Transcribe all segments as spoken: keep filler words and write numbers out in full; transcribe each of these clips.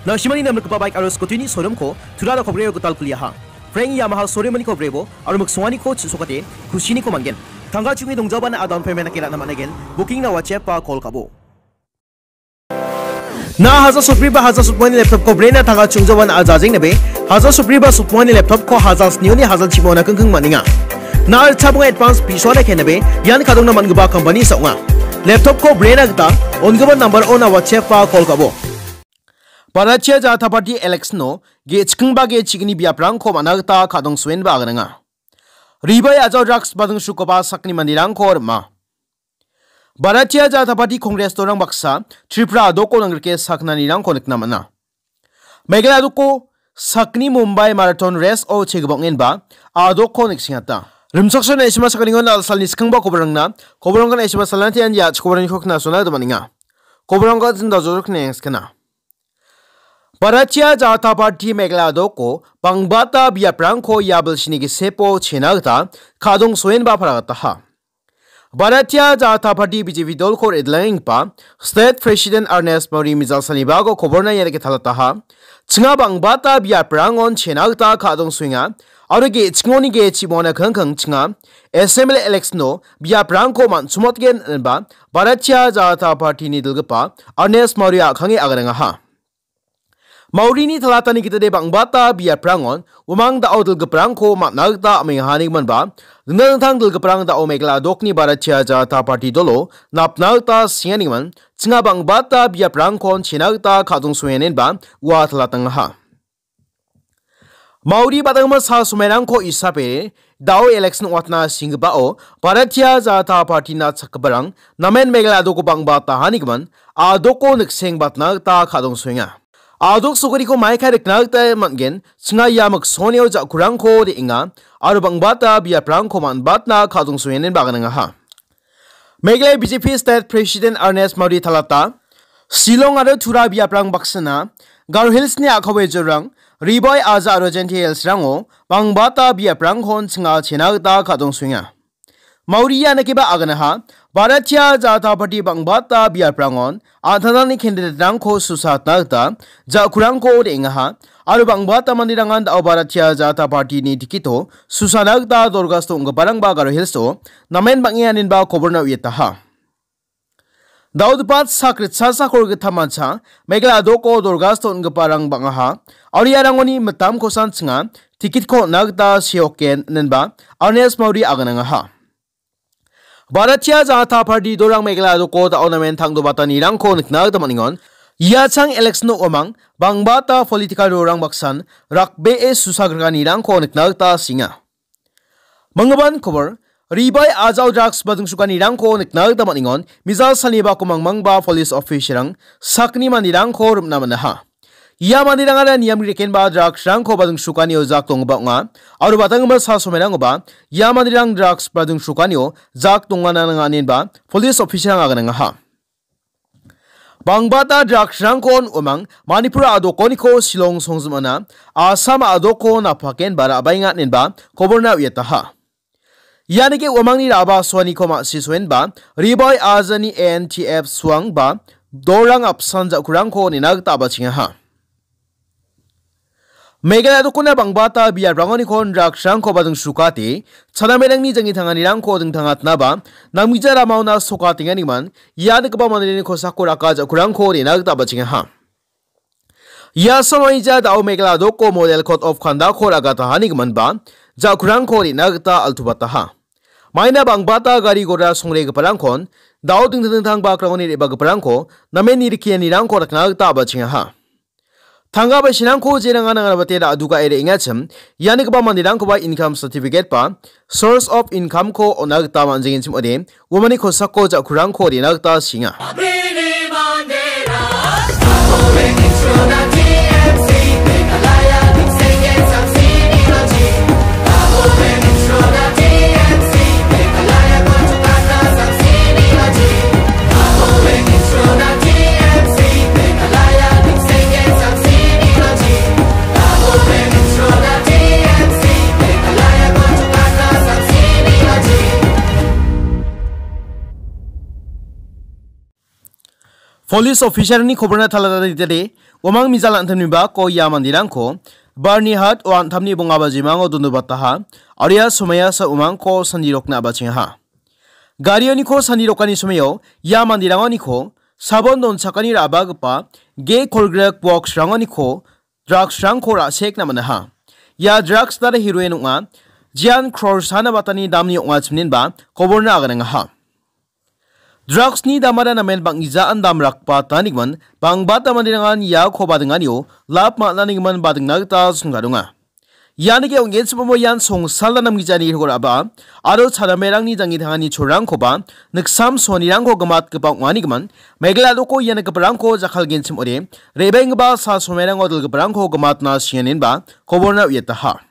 Na·simani namrikgipa baik aro scooty-ni showroom-ko Tura Rokobreio gital kuliaha. Frank Yamaha showroom-niko brebo aro miksonganiko chisokate kusiniko man·gen. Tangka chungi dongjabana a down payment-nake ra·na man·aigen. Booking-na WhatsApp-ba call ka·bo. Na hajar sotbri ba hajar sotbongani laptop-ko brena tangka chungjabana a jajeng nabe, hajar sotbri ba sotbongani laptop-ko hajar snioni hajar chibona kengkeng man·enga. Na ritchabonga advance bisoana kenabe, ian kadongna man·gipa company sa ong·a. Laptop-ko brena gita on·gipa number-ona WhatsApp-ba call ka·bo. Bharatiya Janata Party election-o ge·chikengba ge·chikni biaprangko man·a gita kadongsoenba aganenga. Ribai ajao drugs badingsukoba sakni manderangko rima. Bharatiya Janata Party Congress dorang baksa Tripura a·doko nangrike saknanirangko nikna man·a. Meghalaya a·doko sakni Mumbai Marathon Race-o chegibongenba a·doko niksengata. Rimchaksoa na·sima sakgni-on dal·salni skangba koborangna, koborangna na·sima salnatian ia chikoborangko knasona gita man·enga. Koborangko jindajorok nengskana. Bharatiya Janata Party Meghalaya a·doko bangbata biaprangko ia bilsini gisepo chena gita kadongsoenba paragataha. Bharatiya Janata Party B J P dolko re·dilangenggipa State President Ernest Mori mijal sanibago koborna ia dake talataha. Chinga bangbata biaprangon chena gita kadongsoenga aro ge·chingoni ge·chibona kangkang chinga S M L A election-o biaprangko man·chomotgen inba Bharatiya Janata Party-ni dilgipa Ernest Mori a·kange aganengaha. Maurini talatani gitade bangbata biaprangon umang da·o dilgiprangko man·a gita am·engahanigmanba, dingtang dingtang dilgiprang da·o Meghalaya a·dokni Bharatiya Janata Party dolo napna gita singanigimin, chinga bangbata biaprangkon chena gita kadongsoenenba ua talatangaha. Mauri badangma sa somairangko isape da·o election ong·atna singgipao Bharatiya Janata Party-na chakgiparang namen Meghalaya a·doko bang·ba tahanigimin a·doko nikseng batna gita kadongsoenga. A·dok sogariko maikai rikna gita man·gen, chinga ia miksonio ja·kurangko re·enga aro bang·bata biaprangko man·batna kadongsoenenba aganengaha. Meghalaya B J P State President Ernest Modi talata, Shillong aro Tura biaprang baksana, Garo Hills-ni a·kawe jorang, Ribai aja aro Jaintia Hills-rango bangbata biaprangkon chinga chena gita kadongsoenga. Mauria nakiba aganaha, Bharatiya Janata Party bangbata biaprangon an·tangtangni candidate-rangko susatna gita ja·kurangko re·engaha, aro bangbata manderangan da·o Bharatiya Janata Party-ni ticket-o susana gita dorgasto ong·giparangba Garo Hills-o namen bang·e aninba koborna uiataha. Da·o dipat sak ritchasa kolgittamcha Meghalaya a·doko dorgasto ong·giparang bang·aha, aro iarangoni mitamkosan chinga ticket-ko on·na gita seoken, inenba Ernest Modi aganangaha. Bharatiya Janata Party dorang Meghalaya a·doko da·o namen tangdobatanirangko nikna gita man·engon. Ia chang election-o uamang bangbata political rorang baksan rakbee susagrikanirangko nikna gita singa. Manggipan kobor, Ribai ajao drugs badingsukanirangko nikna gita man·engon. Mijal salni bako mangmangba police officer-rang sakni manderangko rim·na man·aha. Ia manderangara niamni rekenba drugs-rangko badingsukanio jak donggipa ong·a, aro batanggipa sa somairangkoba ia manderang drugs badingsukanio jak dongana nanga inenba police officer-rang aganangaha. Bangbata drugs-rangkon uamang Manipur a·dokoniko Shillong songjimana Assam a·doko napakenba ra·baenga inenba koborna uiataha. Ianike uamangni ra·ba soaniko ma·si soenba Ribai ajani A N T F suangba dorang apsan ja·kurangko nina gita abachengaha. Meghalaya a·dokona bangbata biaprangonikon drugs-rangko badingsukate, chanamerangni janggi tanganirangko dingtangatnaba, namgija ramaona sokatenganigimin, ia nikgipa manderangni kosako raka ja·kurangko nina gita abachengaha. Ia samaija da·o Meghalaya a·doko model code of conduct-ko ragatahanigiminba, ja·kurangko nina gita altuataha. Maina bangbata gari gora songregiparangkon, da·o dingtang dingtang bakrangoni re·bagiparangko, namen nirikianirangko rakna gita abachengaha. Tangka basinangko jeranga nanganabate ra·dugae re·engachim, ianigipa manderangkoba income certificate ba source of income-ko on·a gita man·jengenchim ode, uamangni kosako ja·kurangko re·na gita singa. Police officer-ni koborna talatade, Uamang mijal an·tangni bako ia manderangko Barnihat o an·tamni bonga bajimango dondobataha, aro ia somoiasa uamangko sandirokna abachengaha. Garioniko sandirokani somoio ia manderangoniko sabon donchakani ra·bagipa ge kolgrek boksrangoniko drugsrangko ra·sekna man·aha. Ia drugs dara heroin ong·a, jian crores-ana batani damni ong·achimninba koborna aganangaha. Drugsni damara namen bang·gijaan dam rakbatanigimon, bangbata manderangan iako badinganio lap man·anigimon badingna gita songgadonga. Ianike ong·genchim ong·bo ian songsalna namgijani rikora ba, aro chadamerangni janggi tangani cholrangkoba niksam sonirangko gimatgipa ong·anigimon, Meghalaya doko ia nikgiparangko jakkalgenchim ong·ode, re·baenggipa sa somoirango dilgiparangko gimatna sianinba koborna uiataha.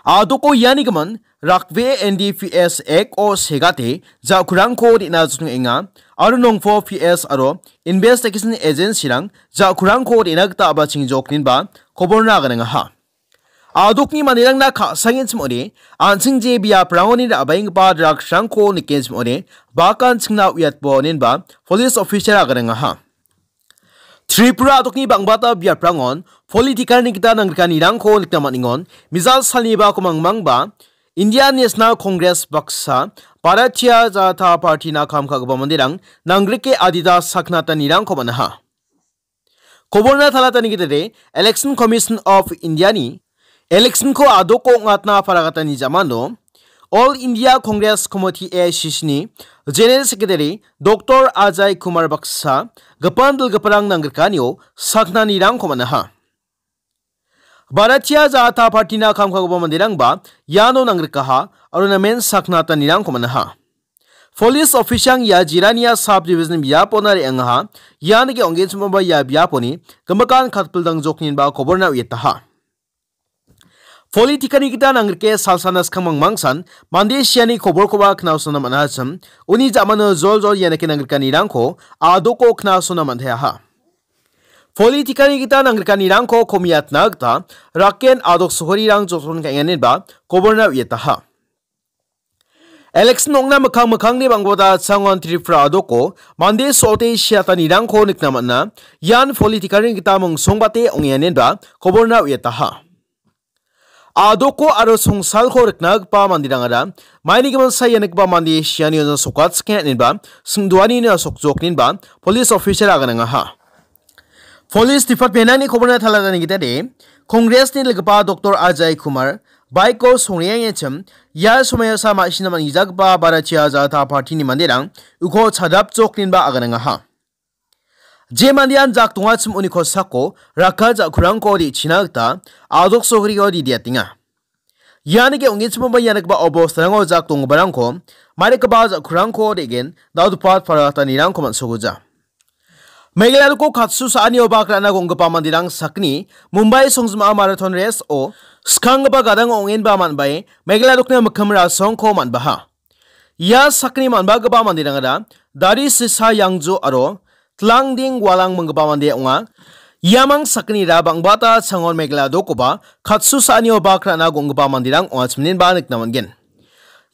A·doko ianigimon rakbe N D P S Act-o segate ja·kurangko re·na jotongenga aro nongpo P S aro investigation agency-rang ja·kurangko re·na gita abachengjokninba koborna aganangaha. A·dokni manderangna ka·sangenchim ong·ode, an·ching je biaprangoni ra·baenggipa drugs-rangko nikenchim ong·ode, bakan chingna uiatbo ninba police officer aganangaha. Tripura a·dokni bangbata biaprangon political-ni gita nangrikanirangko nikna man·engon, mijal salni bako mangmangba Indian National Congress baksa, Bharatiya Janata Party-na kam ka·gipa manderang nangrike adita saknatanirangko man·aha. Koborna talatani gitade Election Commission of India-ni election-ko a·doko ong·atna paragatani jamano All India Congress Committee, A I C C-ni General Secretary Doctor Ajay Kumar baksa gipin dilgiparang nangrikanio saknanirangko man·aha. Bharatiya Janata Party-na kam ka·gipa manderangba iano nangrikaha aro namen saknatanirangko man·aha. Police officer-rang ia Jirania sub-division biapona re·angaha, ianike ong·genchim ong·ba ia biaponi gimikan katpildangjokninba koborna uiataha. Political-ni gita nangrike salsana skang mangmangsan mande siani koborkoba knasona man·achim, uni jamano joljol ianike nangrikanirangko a·doko knasona man·teaha. Political-ni gita nangrikanirangko komiatna gita raken a·dok sohorirang joton ka·enganinba koborna uiataha. Election ong·na mikkang mikkangni bangbata changon Tripura a·doko mande so·ote siatanirangko nikna man·a. Ian political-ni gita mingsongbate ong·enganinba koborna uiataha. A·doko aro songsalko rikna gipa manderangara maini gimin saia nikgipa mande sianio sokatchake ninba singdoanina sokjokninba police officer aganangaha. Police Department-ni koborna talatani gitade, Congress-ni dilgipa Doctor Ajay Kumar, bike-ko songreangechim, ia somoiasa ma·sina man·gijagipa Bharatiya Janata Party-ni manderang uko chadapjokninba aganangaha. Je mandean jak dongachim uni kosako raka ja·kurangko re·china gita a·dok sohorio didiatenga. Ianike ong·genchim ong·ba ia nikgipa obostarango jak donggiparangko, mairikgipa ja·kurangko re·gen, dal·gipa paratanirangko man·soguja. Meghalaya doko katsu sa·anio bak ra·na gonggipa manderang sakgni Mumbai songjima marathon race-o skanggipa gadang ong·enba man·bae Meghalaya dokni mikkim rasongko man·baha. Ia sakgni man·bagipa manderangara Dari Sisa Yangju aro Tlangding Walang minggipa mande ong·a. Iamang sakgnira bang·bata changon Meghalaya dokoba katsu sa·anio bak ra·na gonggipa manderang ong·achimninba nikna man·gen.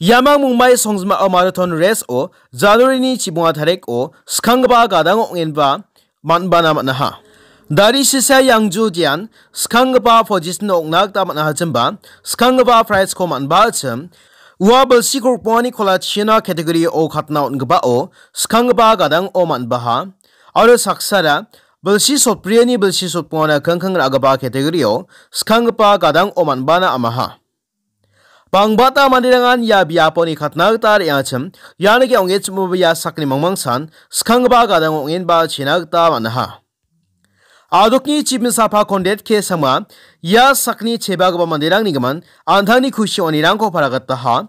Iamang Mumbai songjima marathon race-o January-ni chibonga tariko skanggipa gadang ong·enba man·bana man·aha. Dari Sisa Yangju dian skanggipa position ong·na gita man·ahachimba, skanggipa prize-ko man·ba achim, ua bilsi krokbongani kolachina category-o katna on·gipao skanggipa gadang-o man·baha, aro saksara bilsi sotbriani bilsi sotbongana kingking ra·gipa category-o skanggipa gadang-o man·bana amaha. Bangbata manderangan ia biaponi katna gita re·angachim, ianike ong·genchimoba ia sakni mangmangsan skanggipa gadang ong·enba chena gita man·aha. A·dokni chibin sapa Conrad K Sangma ia sakni chebagipa manderangni gimin an·tangni kusi ong·anirangko paragataha.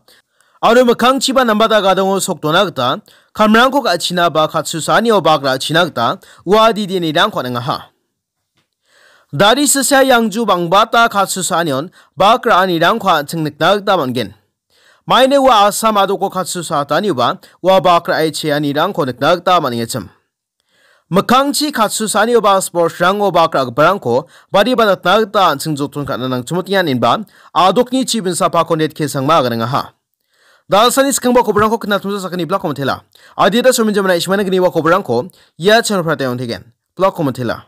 Aro mikkangchiba nambata gadango sokdona gita kamrangko ka·china ba katsusaanio bak ra·china gita ua didianirangko on·angaha. Dari sisa Yangju bangbata katsusaanion bak ra·anirangko an·ching nikna gita man·gen. Maine ua Assam a·doko katsusatanioba ua bak ra·e cheanirangko nikna gita man·engachim. Mikkangchi katsusaanioba sportsrango bak ra·giparangko badi badatna gita an·ching joton ka·na nangchimotenga inba a·dokni chibin sapa Conrad K Sangma aganengaha. Dalsani skangba koborangko knatmisa sakani blakko mitela. Adita sominjamna ismana gniwa koborangko ia channel-o pratayong tegen. Blakko mitela.